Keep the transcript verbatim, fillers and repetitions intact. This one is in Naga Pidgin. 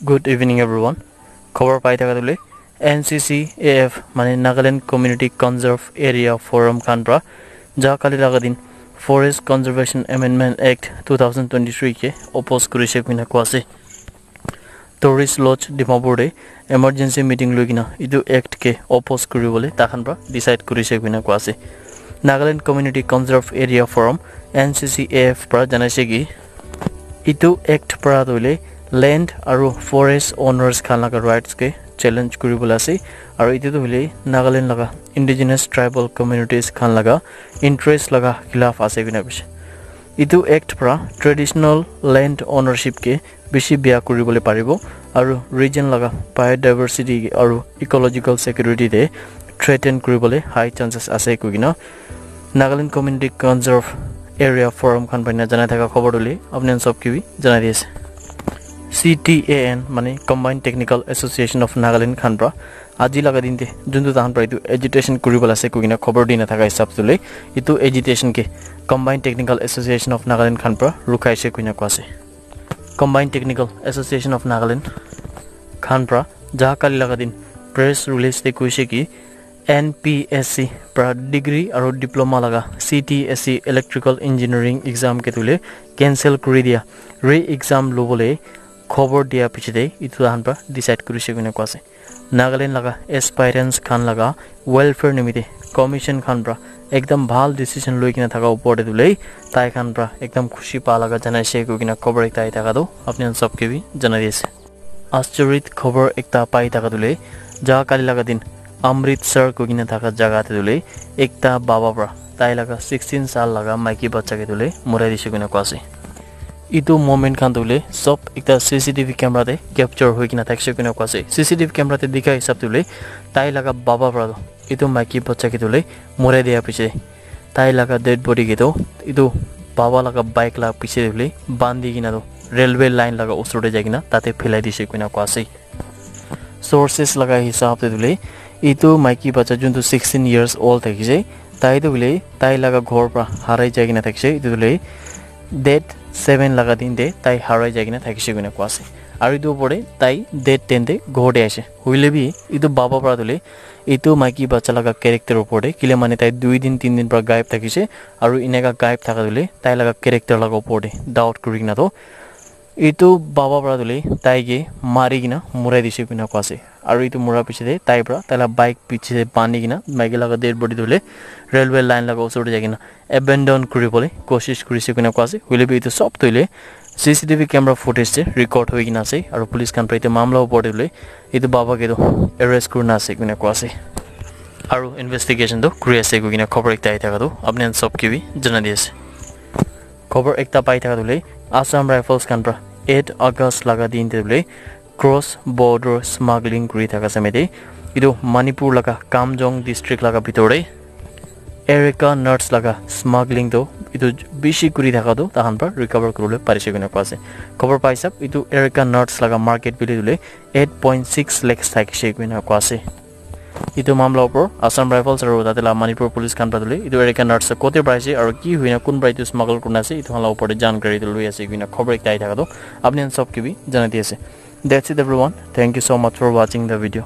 Good evening everyone. Khobor pai thaka tu le N C C A F mane Nagaland Community Conserve Area Forum khan pra ja kali laga din Forest Conservation Amendment Act two thousand twenty-three ke oppose kurise kuina koa ase. Tourist Lodge Dimapur te emergency meeting loi kina etu act ke oppose kuri bole takhan pra decide kurise kuina koa ase. Nagaland Community Conserve Area Forum, N C C A F pra janaise ki etu act pra tu le land aru forest owners khan laga rights ke challenge kuri bole ase. Aru etu tu hoile Nagaland laga indigenous tribal communities khan laga interest laga khilaf ase kuina koise. Etu act pra traditional land ownership ke bishi bia kuri bole paribo aru region laga biodiversity aru ecological security te threaten kuri bole high chances ase koi kina Nagaland Community Conserve Area Forum khan pra janai thaka khobor tu le apni khan sob ke bi janai di ase. C T A N mane Combined Technical Association of Nagaland khan pra aji laga din te juntu tahan pra etu agitation kuri bole ase koi kina khobor di na thaka hisab tu le etu agitation ke Combined Technical Association of Nagaland khan pra rukhai se koi kina koa ase. Combined Technical Association of Nagaland khan pra ja kali laga din press release te koise ki N P S C pra degree aru diploma laga C T S C electrical engineering exam ke tu le cancel kuri dia, re exam lobole khobor dia piche te etu tahan pra decide kurise koi kina koa ase. Nagaland laga aspirants khan laga welfare nimite commission khan pra ekdam bhal decision loi kina thaka upor te tu le tai khan pra ekdam khushi pa laga janaise koi kina khobor ekta ahi thaka tu apni khan sob ke bi janai di ase. Aschoric khobor ekta pai thaka tu le ja kali laga din Amritsar koi kina thaka jaga te tu le ekta baba pra tai laga sixteen saal laga maiki bacha ke tu le murai dise koi kina koa ase. Etu moment khan tu le sob ekta C C T V camera te capture hoi kina thakise koi kina koa ase. C C T V camera te dikha hisab tu le tai laga baba pra tu etu maiki bacha ke tu le murai dia piche tai laga dead body ke tu etu baba laga bike la piche te tu le bandi kina tu railway line laga usor te jai kina tate philai dise koi kina koa ase. Sources laga hisab te tu le etu maiki bacha juntu sixteen years old thakise tai tu hoile tai laga ghor pra harai jai kina thakise etu tu le date seven laga din te tai harai jai kina thakise koi kina koa ase. Aru etu upor te tai date ten te ghor te ase hoile bi etu baba pra tu le etu maiki bacha laga character upor te kile mane tai dui din tin din pra gaib thakise aru eneka gaib thaka tu le tai laga character laga upor te doubt kuri kina tu etu baba pra tu le tai ke mari kina murai dise koi kina koa ase. Aru etu mura piche te tai pra tai la bike piche te bandi kina maiki laga dead body tu le railway line laga usor te jai kina abandon kuri bole koshish kurise koi kina koa ase. Hoile bi etu sob tu hoile C C T V camera footage te record hoi kina ase aru police khan pra etu mamla upor te hoile etu baba ke tu arrest kurina ase koi kina koa ase. Aru investigation tu kuri ase koi kina khobor ekta ahi thaka tu apni khan sob ke bi janai di ase. Khobor ekta pai thaka tu le Assam Rifles khan pra eight August laga din te tu le cross border smuggling kuri thaka samay te etu Manipur laga Kamjong district laga bitor te Erica nuts laga smuggling tu etu bishi kuri thaka tu tahan pra recover kuribole parise koi kina koa ase. Khobor pai sab etu Erica nuts laga market value tu le eight point six lakhs thakise koi kina koa ase. Etu mamla upor Assam Rifles aru tate la Manipur Police khan pra tu le etu Erica nuts kote pra ase aru ki hoina kun pra etu smuggle kurina ase etu khan la upor te jankari tu loi ase koi kina khobor ekta ahi thaka tu apni khan sob ke bi janai di ase. That's it everyone. Thank you so much for watching the video.